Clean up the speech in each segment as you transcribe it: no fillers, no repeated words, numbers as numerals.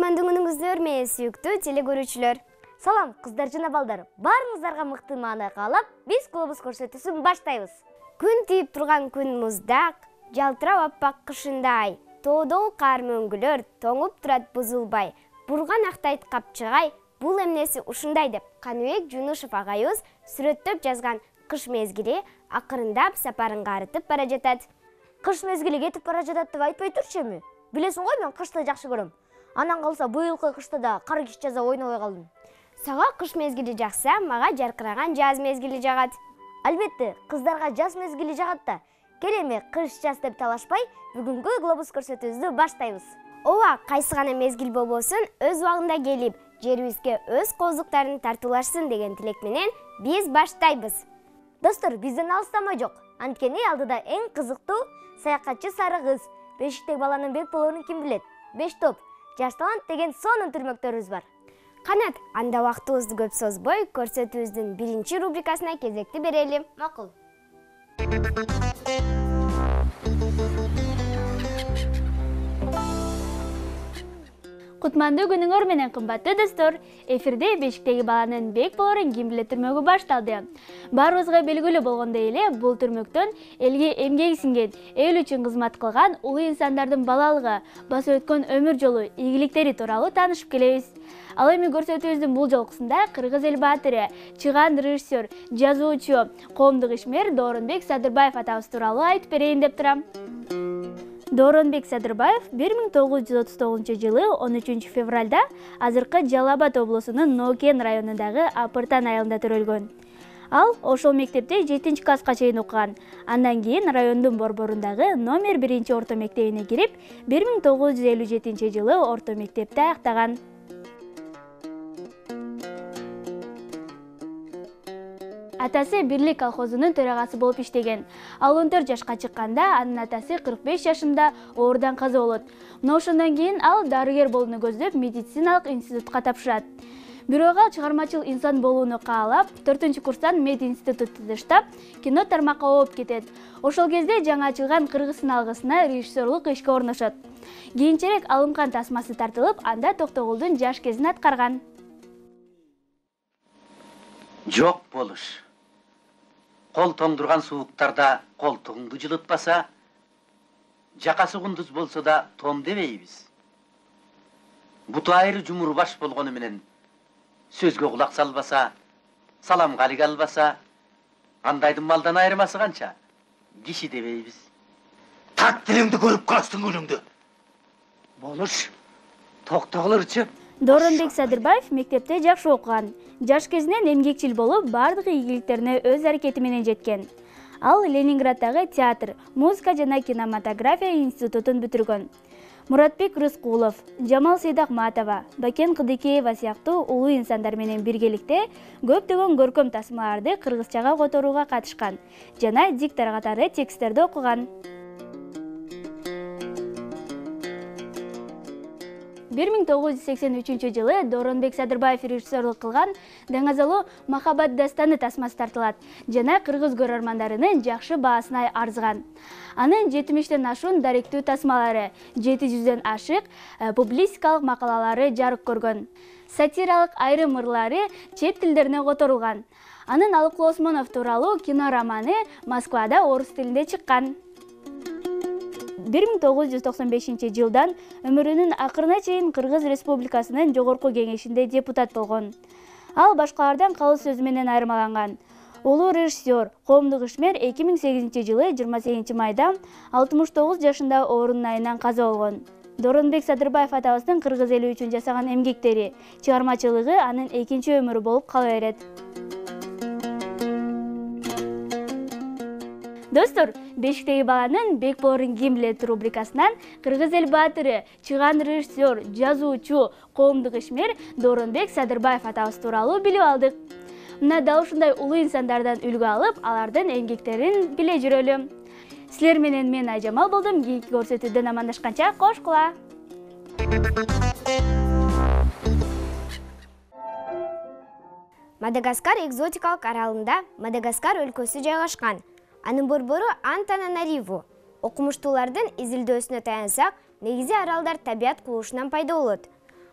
Кутмандуу күнүңүздөр менен сүйүктүү теле көрүүчүлөр. Салам кыздар жана балдар. Баарыңыздарга мыкты маанай каалап, биз глобус көрсөтүүсүн баштайбыз. Күн тийип турган күн муздак, жалтырап аппак кышындай. Тоодогу кар мөңгүлөр тоңуп турат бузулбай. Бурган актайт капчыгай, бул эмнеси ушундай деп Каныбек Жунушев агайыбыз сүрөттөп жазган кыш мезгили акырындап сапарын карытып бара жатат. Кыш мезгили кетип бара жатат деп айтпай турчу эми? Билесиң го, мен кышты жакшы көрөм. Анан калса быйылкы кышта да кар киш жаза ойнобой калдым. Сага кыш мезгили жакса, мага жаркыраган жаз мезгили жагат. Албетте, кыздарга жаз мезгили жагат да. Кел эми кыш жаз деп талашпай, бүгүнкү глобус көрсөтүүбүздү баштайбыз. Ооба, кайсы гана мезгил болбосун, өз убагында келип, жерибизге өз коздуктарын тартуулашсын деген тилек менен биз баштайбыз. Достор, бизден алыстамай жок. Анткени алдыда эң кызыктуу саякатчы сары кыз, бешиктеги баланын бек болоорун ким билет? 5 топ, жаш талант деген сонун түрмөктөрүбүз бар. Канат, анда убактыбызды көп созбой, көрсөтүүбүздүн биринчи рубрикасына кезекти берели. Макул. Кутмандуу күнүңөр менен кымбаттуу достор, эфирде бешиктеги баланын бек болоорун ким билет түрмөгү башталды. Баарыбызга белгилүү болгондой эле, бул түрмөктөн элге эмгеги сиңген, эл үчүн кызмат кылган улуу инсандардын балалыгы, басып өткөн өмүр жолу, ийгиликтери тууралуу таанышып келебиз. Ал эми көрсөтүүбүздүн бул жолкусунда кыргыз эл баатыры, чыган режиссер, жазуучу, коомдук ишмер Дооронбек Садырбаев атабыз тууралуу айтып берейин деп турам. Дооронбек Садырбаев 1939 жылы 13 февралда азыркы Жалал Абад облусунун Ноокен районундагы Апыртан айылында төрөлгөн. Ал ошол мектепте 7-класска чейин окуган. Андан кийин райондун борборундагы номер 1 орто мектебине кирип, 1957 жылы орто мектепти аяктаган. Атасы Бирлик колхозунун төрагасы болуп иштеген. Ал 14 жашка чыкканда анын атасы 45 жашында оорудан каза болот. Мына ошондон кийин ал дарыгер болууну көздөп медициналык институтка тапшырат. Бирок ал чыгармачыл инсан болууну каалап, 4-курстан мед институту таштап, кино тармакка ооп кетет. Ошол кезде жаңы ачылган Кыргызстан алгысына режиссерлук ишке орношот. Кийинчерээк алымкан тасмасы тартылып, анда Токтогулдун жаш кезин аткарган. Жок болуш. Кол тоңдурган сууктарда колтугуңду жылытпаса, жакасы кундуз болсо да том дебейбиз. Буту айры жумуру баш болгону менен сөзгө кулак салбаса, саламга алиге албаса, андайдын малдан айырмасы канча? Киши дебейбиз. Так тилиңди көрүп калыштың күнүңдү. Болуш. Токтогулурчу. Дооронбек Садырбаев мектепте жакшы окуган. Жаш кезинен эмгекчил болуп, бардык ийгиликтерине өз аракети менен жеткен. Ал Ленинграддагы театр, музыка жана кинематография институтун бүтүргөн. Муратбек Рыскулов, Жамал Сейдахматова, Бакен Кыдыкеева сыяктуу улуу инсандар менен биргеликте көптөгөн көркөм тасмаларды кыргызчага которууга катышкан жана диктор катары тексттерди окуган. 1983 жылы Дооронбек Садырбаев режиссерлук кылган Даңазалуу Махаббат дастаны тасмасы тартылат жана кыргыз көрөрмандарынын жакшы баасына арзыган. Анын 70тен ашуун даректүү тасмалары, 700дөн ашык публицистикалык макалалары жарык көргөн. Сатиралык айрым ырлары чет тилдерине которулган. Анын Алыклуу Осмонов тууралуу кино романы Москвада орус тилинде чыккан. 1995 жылдан өмүрүнүн акырына чейин Кыргыз Республикасынын Жогорку Кеңешинде депутат болгон. Ал башкалардан калыс сөзү менен айырмаланган. Улуу режиссер, коомдук ишмер 2008 жылы 28 майда 69 жашында оорунун айынан каза болгон. Дооронбек Садырбаев атабыздын кыргыз эли үчүн жасаган эмгектери, чыгармачылыгы анын экинчи өмүрү болуп кала берет. Достор, бешиктеги баланын бек болоорун ким билет рубрикасынан кыргыз эл баатыры, чыган режиссер, жазуучу, коомдук ишмер Дооронбек Садырбаев атабыз тууралуу билип алдык. Мына дал ушундай улуу инсандардан үлгү алып, алардын эмгектерин биле жүрөлү. Силер менен мен Айжамал болдум. Кийинки көрсөтүүдөн амандашканча кош кула. Мадагаскар экзотикалык аралында Мадагаскар өлкөсү жайгашкан. Анын борбору Антананариву. Окумуштуулардын изилдөөсүнө таянсак, негизи аралдар табият кулушунан пайда болот.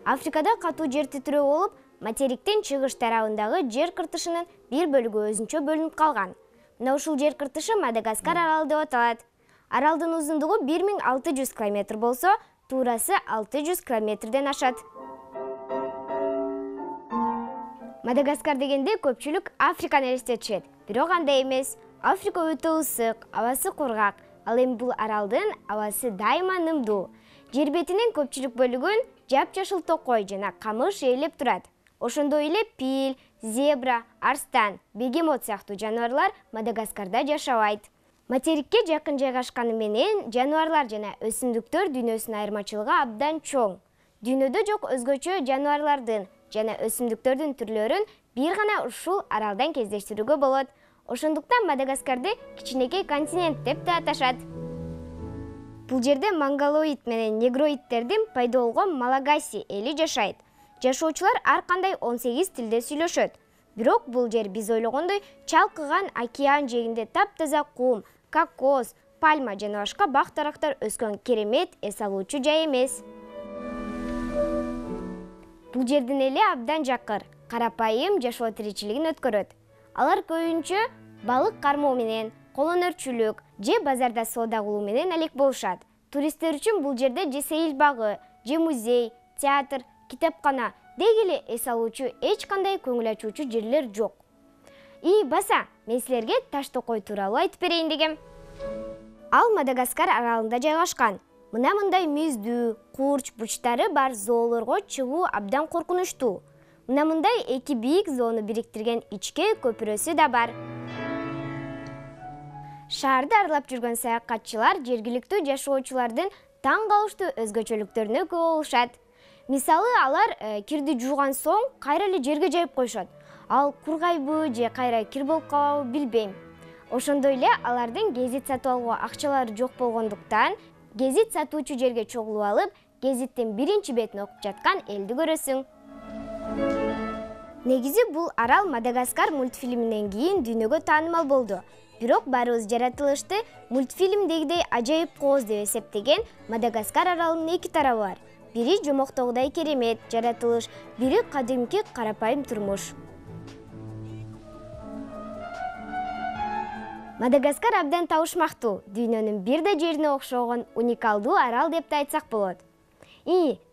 Африкада катуу жер титирөө болуп, материктин чыгыш тарабындагы жер кыртышынын бир бөлүгү өзүнчө бөлүнүп калган. Мына ушул жер кыртышы Мадагаскар аралы деп аталат. Аралдын узундугу 1600 км болсо, туурасы 600 км ашат. Мадагаскар дегенде көпчүлүк Африканы элестетишет, бирок андай эмес. Африка өтө ысык, абасы кургак, ал эми бул аралдын абасы дайыма нымдуу. Жер бетинин көпчүлүк бөлүгүн жапжашыл токой жана камыш ээлеп турат. Ошондой эле пил, зебра, арстан, бегемот сыяктуу жаныбарлар Мадагаскарда жашабайт. Материкке жакын жайгашканы менен жаныбарлар жана өсүмдүктөр дүйнөсүнүн айырмачылыгы абдан чоң. Дүйнөдө жок өзгөчө жаныбарлардын жана өсүмдүктөрдүн түрлөрүн бир гана ушул аралдан кездештирүүгө болот. Ошондуктан Мадагаскарды кичинекей континент деп да аташат. Бул жерде монголоид менен негроидтердин пайда болгон малагаси эли жашайт. Жашоочулар ар кандай 18 тилде сүйлөшөт. Бирок бул жер биз ойлогондой чалкыган океан жээгинде таптаза кум, кокос, пальма жана башка бак-дарактар өскөн керемет эс алуучу жай эмес. Бул жердин эли абдан жакыр, карапайым жашоо тиричилигин өткөрөт. Алар көбүнчө балык кармоо менен, колөнөрчүлүк же базарда соода кылуу менен алек болушат. Туристтер үчүн бул жерде же сейил багы, же музей, театр, китепкана деги эле эс алуучу эч кандай көңүл ачуучу жерлер жок. Баса, мен силерге Таштокой тууралуу айтып берейин дегем. Ал Мадагаскар аралында жайгашкан. Мына мындай мүздүү, курч бурчтары бар зоолорго чыгуу абдан коркунучтуу. Мына мындай эки бийик зоону бириктирген ичке көпүрөсү да бар. Шаарды аралап жүргөн саякатчылар жергиликтүү жашоочулардын таң калыштуу өзгөчөлүктөрүнө күбө болушат. Мисалы, алар кирди жууган соң кайра эле жерге жайып коюшат. Ал кургайбы же кайра кир болуп калабы билбейм. Ошондой эле алардын гезит сатып алууга акчалары жок болгондуктан гезит сатуучу жерге чогулуп алып, гезиттин биринчи бетин окуп жаткан элди көрөсүң. Негизи бул арал Мадагаскар мультфильминен кийин дүйнөгө таанымал болду. Бирок баарыбыз жаратылышты мультфильмдегидей ажайып кооз деп эсептеген Мадагаскар аралынын эки тарабы бар. Бири жомоктогудай керемет жаратылыш, бири кадимки карапайым турмуш. Мадагаскар абдан табышмактуу, дүйнөнүн бир да жерине окшогон уникалдуу арал деп да айтсак болот.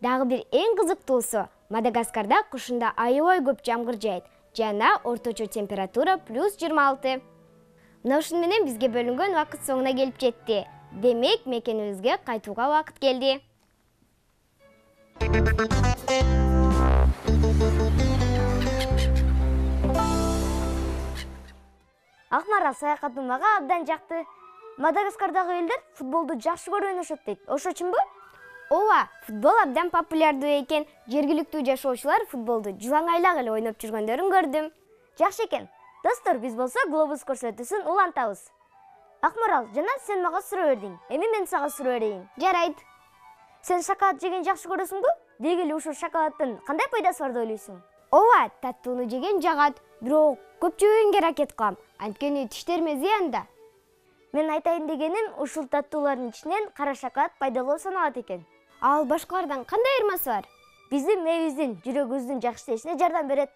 Дагы бир эң кызыктуусу, Мадагаскарда кышында аябай көп жамгыр жаайт жана орточо температура +26. Мына ушун менен бизге бөлүнгөн убакыт соңуна келип жетти. Демек, мекенибизге кайтууга убакыт келди. Акмарал саякатын мага абдан жакты. Мадагаскардагы элдер футболду жакшы көрүп ойношот дейт. Ошо үчүнбү? Ооба, футбол абдан популярдуу экен. Жергиликтүү жашоочулар футболду жылаңайлак эле ойноп жүргөндөрүн көрдүм. Жакшы экен. Достор, биз болсо глобус көрсөтүүсүн улантабыз. Акмарал, жана сен мага суроо бердиң. Эми мен сага суроо берейин. Жарайт. Сен шоколад жеген жакшы көрөсүңбү? Деги эле ушул шоколадтын кандай пайдасы бар деп ойлойсуң? Ооба, таттууну жеген жагат, бирок көп жебегенге аракет кылам. Анткени тиштериме зыян да. Мен айтайын дегеним, ушул таттуулардын ичинен кара шоколад пайдалуу саналат экен. Ал башкалардан кандай айырмасы бар? Биздин мээбиздин, жүрөгүбүздүн жакшы иштешине жардам берет.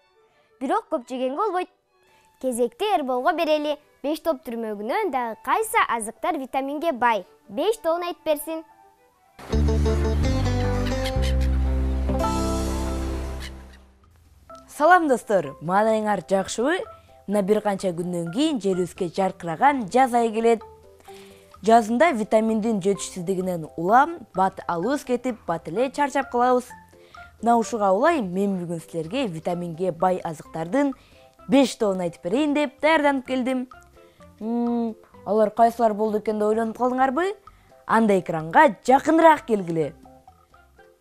Бирок көп жегенге болбойт. Кезекти Эрболго берели. 5 топ түрмөгүнөн дагы кайсы азыктар витаминге бай? 5 тобун айтып берсин. Салам достор, маанайыңар жакшыбы? Мына бир канча күндөн кийин жерибизге жаркыраган жаз айы келет. Жазында витаминдин жетишсиздигинен улам, бат алыбыз кетип, бат эле чарчап калабыз. Мына ушуга улай мен бүгүн силерге витаминге бай азыктардын 5 тобун айтып берейин деп даярданып келдим. Алар кайсылар болду экен деп ойлонуп калдыңарбы? Анда экранга жакыныраак келгиле.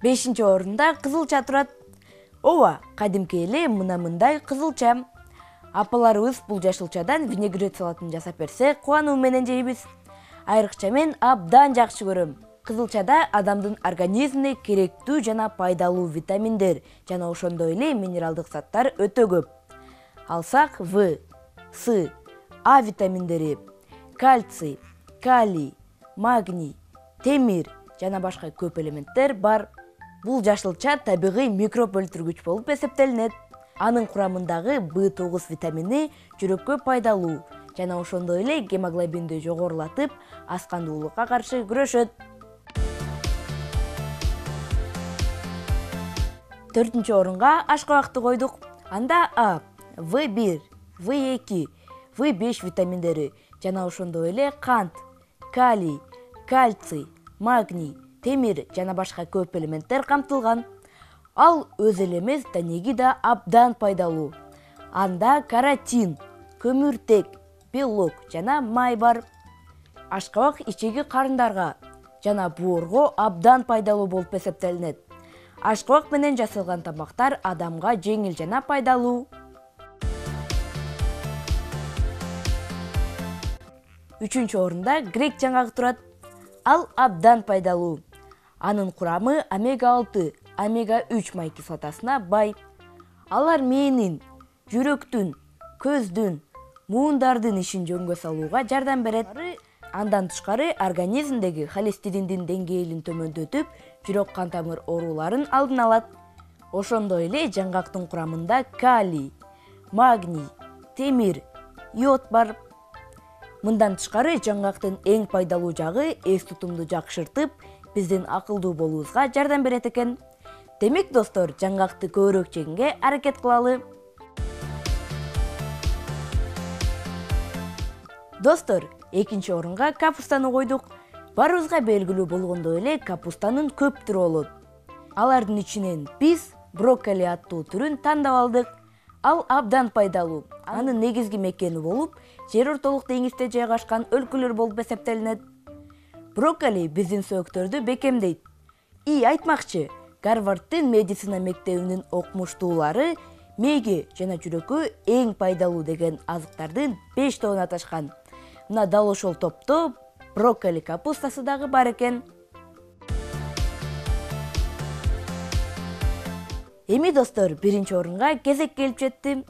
5-орунда кызылча турат. Ооба, кадимки эле мына мындай кызылча. Апаларыбыз бул жашылчадан винегрет салатын жасап берсе, кубануу менен жейбиз. Айрыкча мен абдан жакшы көрөм. Кызылчада адамдын организмине керектүү жана пайдалуу витаминдер жана ошондой эле минералдык заттар өтө көп. Алсак В, С, А витаминдери, кальций, калий, магний, темир жана башка көп элементтер бар. Бул жашылча табигый микроб өлтүргүч болуп эсептелинет. Анын курамындагы B9 витамини жүрөккө пайдалуу жана ошондой эле гемоглобинди жогорулатып, аскандуулукка каршы күрөшөт. 4-нчү орунга ашкабакты койдук. Анда А, В1, В2, В5 витаминдери жана ошондой эле кант, калий, кальций, магний, темир жана башка көп элементтер камтылган. Ал өзү эле эмес, данеги да абдан пайдалуу. Анда каротин, көмүртек, белок жана май бар. Ашкабак ичеги карындарга жана боорго абдан пайдалуу болуп эсептелинет. Ашкабак менен жасалган тамактар адамга жеңил жана пайдалуу. 3-нчү орунда грек жаңгагы турат. Ал абдан пайдалуу. Анын курамы омега-6, омега-3 май кислотасына бай. Алар мээнин, жүрөктүн, көздүн, муундардын ишин жөнгө салууга жардам берет. Андан тышкары организмдеги холестериндин деңгээлин төмөндөтүп, жүрөк кан тамыр ооруларын алдын алат. Ошондой эле жаңгактын курамында калий, магний, темир, йод бар. Мындан тышкары жаңгактын эң пайдалуу жагы эс тутумду жакшыртып, биздин акылдуу болуубузга жардам берет экен. Демек достор, жаңгакты көбүрөөк жегенге аракет кылалы. Достор, 2-нчи орунга капустаны койдук. Баарыбызга белгилүү болгондой эле капустанын көп түрү болот. Алардын ичинен биз брокколи аттуу түрүн тандап алдык. Ал абдан пайдалуу. Анын негизги мекени болуп, жер ортолук деңизде жайгашкан өлкөлөр болуп эсептелинет. Брокколи биздин сөөктөрдү бекемдейт. Айтмакчы, Гарварддын медицина мектебинин окумуштуулары мээге жана жүрөккө эң пайдалуу деген азыктардын 5 тобун аташкан. Мына дал ошол топто брокколи капустасы дагы бар экен. Эми достор, 1-нчи орунга кезек келип жетти.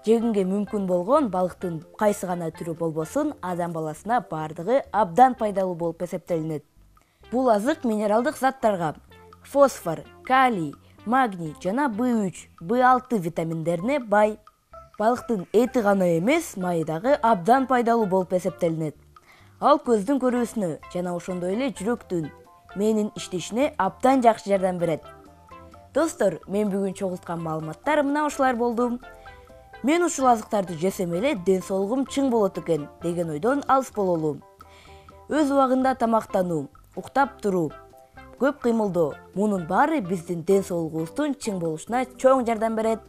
Жегенге мүмкүн болгон балыктын кайсы гана түрү болбосун, адам баласына бардыгы абдан пайдалуу болуп эсептелинет. Бул азык минералдык заттарга фосфор, калий, магний жана B3, B6 витаминдерине бай. Балыктын эти гана эмес, майы дагы абдан пайдалуу болуп эсептелинет. Ал көздүн көрүүсүнө жана ошондой эле жүрөктүн, мээнин иштешине абдан жакшы жардам берет. Достор, мен бүгүн чогулткан маалыматтар мына ушулар болду. Мен ушул азыктарды жесем эле ден соолугум чың болот экен деген ойдон алыс бололу. Өз убагында тамактануу, уктап туруу, көп кыймылдоо, мунун баары биздин ден соолугубуздун чың болушуна чоң жардам берет.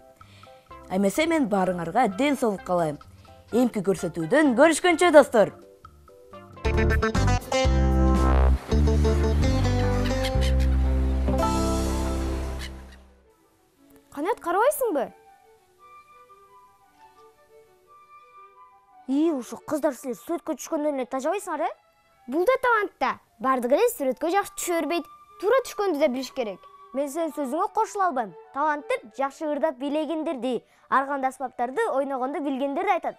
Эмесе мен баарыңарга ден соолук каалайм. Эмки көрсөтүүдөн көрүшкөнчө достор. Канат, карабайсыңбы? Ушу кыздар силер сүрөткө түшкөндөн эле тажабайсыңар, Бул да талант да. Бардыгы эле сүрөткө жакшы түшө бербейт. Туура түшкөндү да билиш керек. Мен сенин сөзүңө кошула албайм. Таланттар жакшы ырдап бийлегендерди, ар кандай аспаптарды ойногонду билгендерди айтат.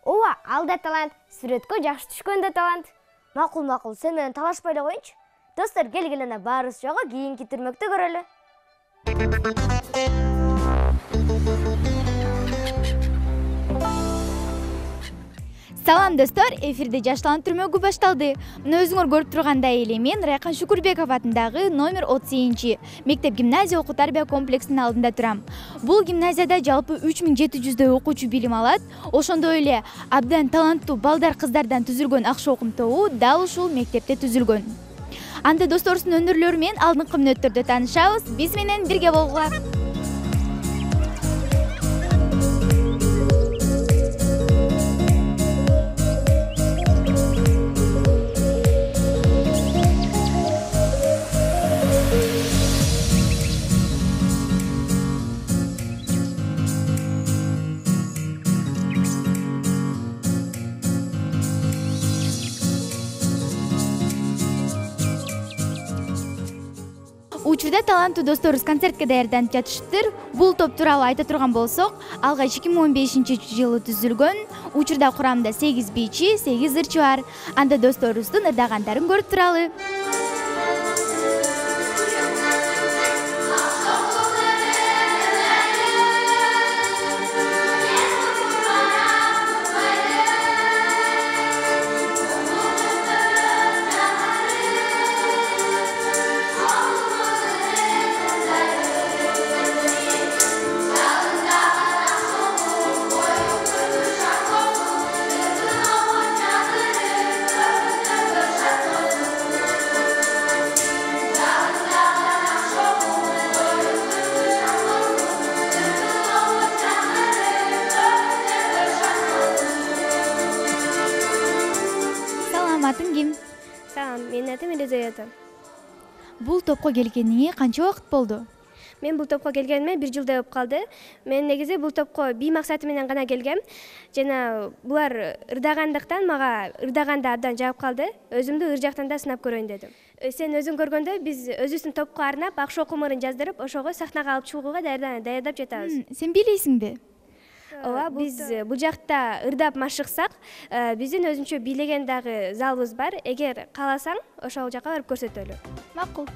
Ооба, ал да талант. Сүрөткө жакшы түшкөн да талант. Макул, сен менен талашпай эле коеюнчу. Достор, келгиле ана баарыбыз жогу кийинки түрмөктө көрөлү. Салам достор, эфирде Жаш талант түрмөгү башталды. Мына өзүңөр көрүп тургандай эле мен Райкан Шукурбеков атындагы номер 30 мектеп гимназия окуу тарбия комплексинин алдында турам. Бул гимназияда жалпы 3700 окуучу билим алат. Ошондой эле абдан таланттуу балдар кыздардан түзүлгөн акча окум тобу дал ушул мектепте түзүлгөн. Анда досторубуздун өнөрлөрү менен алдыңкы мүнөттөрдө таанышабыз. Биз менен бирге болгула. Учурда таланттуу досторубуз концертке даярданып жатышыптыр. Бул топ тууралуу айта турган болсок, алгач 2015-жылы түзүлгөн. Учурда курамында 8 бийчи, 8 ырчы бар. Анда досторубуздун ырдагандарын көрүп туралы. Менин атым Елизавета. Бул топко келгениңе канча убакыт болду? Мен бул топко келгениме 1 жылдай болуп калды. Мен негизи бул топко бий максаты менен гана келгем. Жана булар ырдагандыктан мага ырдаганда абдан жагып калды. Өзүмдү ыр жактан да сынап көрөйүн дедим. Сен өзүң көргөндөй биз өзүбүздүн топко арнап ак шоу кумурун жаздырып, ошого сахнага алып чыгууга даярдап жатабыз. Сен бийлейсиңби? Ооба, биз бул жакта ырдап машыксак, биздин өзүнчө бийлеген дагы залыбыз бар. Эгер кааласаң, ошол жака барып көрсөтөлү. Макул.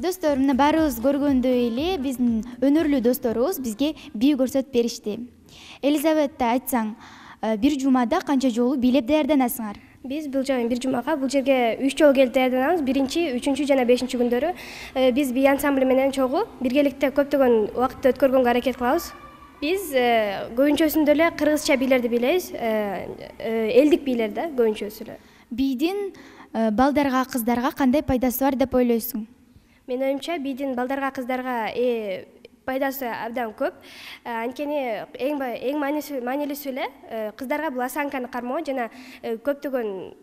Достор, мына баарыбыз көргөндөй эле биздин өнөрлүү досторубуз бизге бий көрсөтүп беришти. Елизавета, айтсаң, бир жумада канча жолу бийлеп даярданасыңар? Биз бул жумага бул жерге 3 жолу келип даярданабыз. 1-чи, 3-чү жана 5-чи күндөрү биз бий ансамбли менен чогуу биргеликте көптөгөн убакытты өткөргөнгө аракет кылабыз. Биз көбүнчөсүндө эле кыргызча бийлерди бийлейбиз, элдик бийлер да көбүнчөсү эле. Бийдин балдарга, кыздарга кандай пайдасы бар деп ойлойсуң? Мен оюмча бийдин балдарга, кыздарга пайдасы абдан көп. Анткени эң маанилүүсү эле кыздарга бул осанканы кармоо жана көптөгөн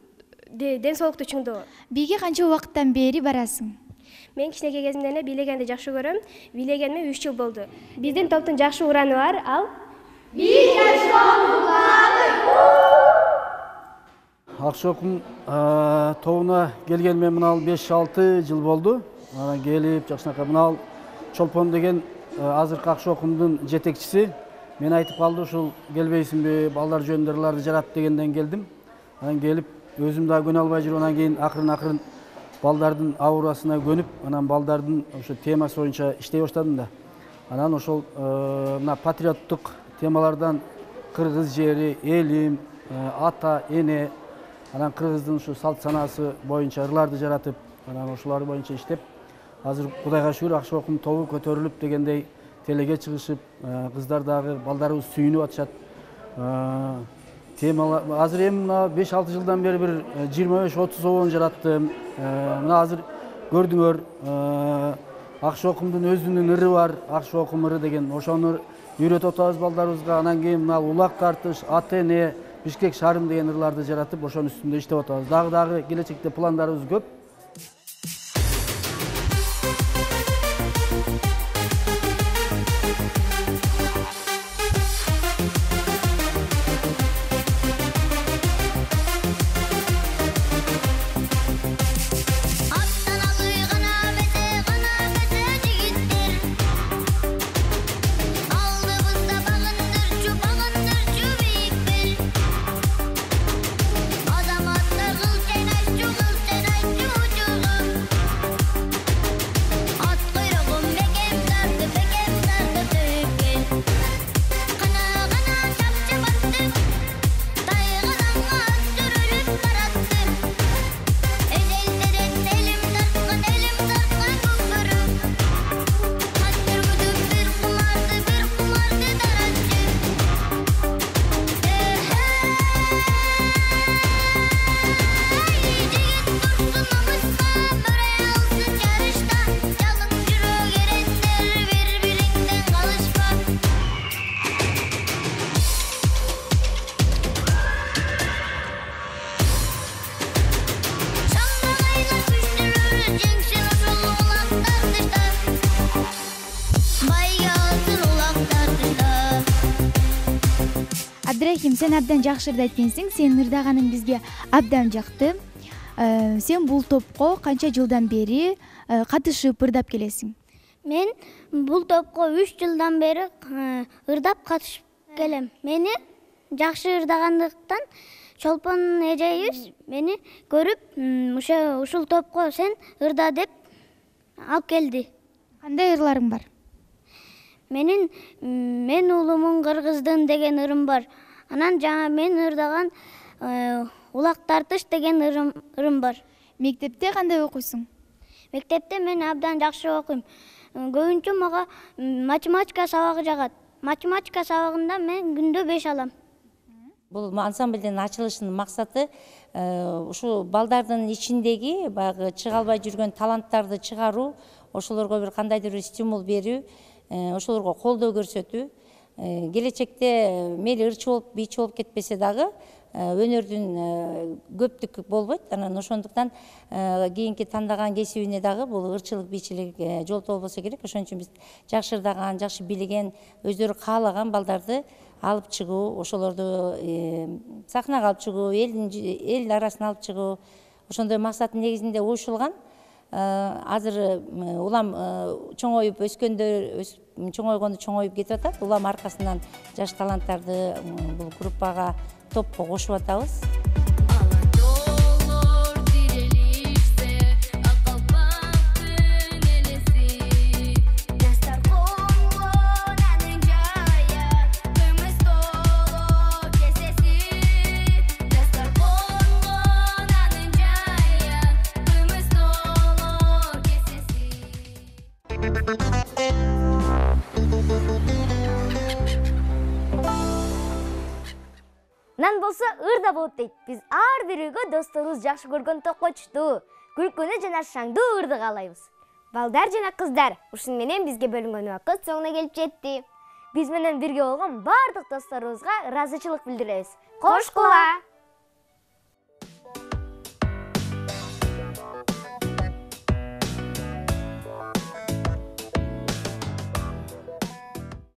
ден соолукту чыңдоо. Бийге канча убакыттан бери барасың? Мен кичинекей кезимден эле бийлегенди жакшы көрөм. Бийлегениме 3 жыл болду. Биздин топтун жакшы ураны бар, ал Биз Акшокум тобуна келгениме мына 5-6 жыл болду. Анан келип жакшынакай мына Чолпон деген азыркы Акшокумдун жетекчиси мен айтып калды, ушул келбейсиңби, балдар жөндөрлөрдү жарат дегенден келдим. Анан келип өзүм да көнө албай жүрүп, анан кийин акырын балдардын аурасына көнүп, анан балдардын ошо темасы боюнча иштей баштадым да. Анан ошол мына патриоттук темалардан кыргыз жери, элим, ата, эне, анан кыргыздын ушу салт санаасы боюнча ырларды жаратып, анан ошолар боюнча иштеп, азыр Кудайга шүгүр Акшокум тобу көтөрүлүп дегендей телеге чыгышып, кыздар дагы балдарыбыз сүйүнүп атышат. Темалар азыр эми мына 5-6 жылдан бери бир 25-30 обон жараттым. Мына азыр көрдүңөр, Акшокумдун өзүнүн ыры бар, Акшокум ыры деген. Ошону үйрөтүп атабыз балдарыбызга. Анан кийин мына улак тартыш, ата эне, Бишкек шаарым деген ырларды жаратып, ошонун үстүндө иштеп атабыз. Дагы келечекте пландарыбыз көп. Azamattır kıl çenayçu Абдрахим, сен абдан жакшы ырдайт экенсиң. Сенин ырдаганың бизге абдан жакты. Сен бул топко канча жылдан бери катышып ырдап келесиң? Мен бул топко 3 жылдан бери ырдап катышып келем. Мени жакшы ырдагандыктан Чолпон эжебиз мени көрүп, ушул топко сен ырда деп алып келди. Кандай ырларың бар? Мен улумун кыргыздын деген ырым бар. Анан жаңа мен ырдаган улак тартыш деген ырым бар. Мектепте кандай окуйсуң? Мектепте мен абдан жакшы окуйм. Көбүнчө мага математика сабагы жагат. Математика сабагында мен күндө 5 алам. Бул ансамблдин ачылышынын максаты ушу балдардын ичиндеги баягы чыга албай жүргөн таланттарды чыгаруу, ошолорго бир кандайдыр бир стимул берүү, ошолорго колдоо көрсөтүү. Келечекте мейли ырчы болуп, бийчи болуп кетпесе дагы өнөрдүн көптүк болбойт. Анан ошондуктан кийинки тандаган кесибине дагы бул ырчылык, бийчилик жолтоо болбосо керек. Ошон үчүн биз жакшы ырдаган, жакшы билген, өздөрү каалаган балдарды алып чыгуу, ошолорду сахнага алып чыгуу, эл арасына алып чыгуу, ошондой максаттын негизинде уюшулган. Азыр улам чоңоюп өскөндөр, чоңойгону чоңоюп кетип атат. Улам аркасынан жаш таланттарды бул группага, топко кошуп атабыз. Нан болсо ырда болот дейт. Биз ар бирөөгө досторубуз жакшы көргөн токочту, күлкүнү жана шаңдуу ырды каалайбыз. Балдар жана кыздар, ушун менен бизге бөлүнгөн убакыт соңуна келип жетти. Биз менен бирге болгон бардык досторубузга ыраазычылык билдиребиз. Кош кула!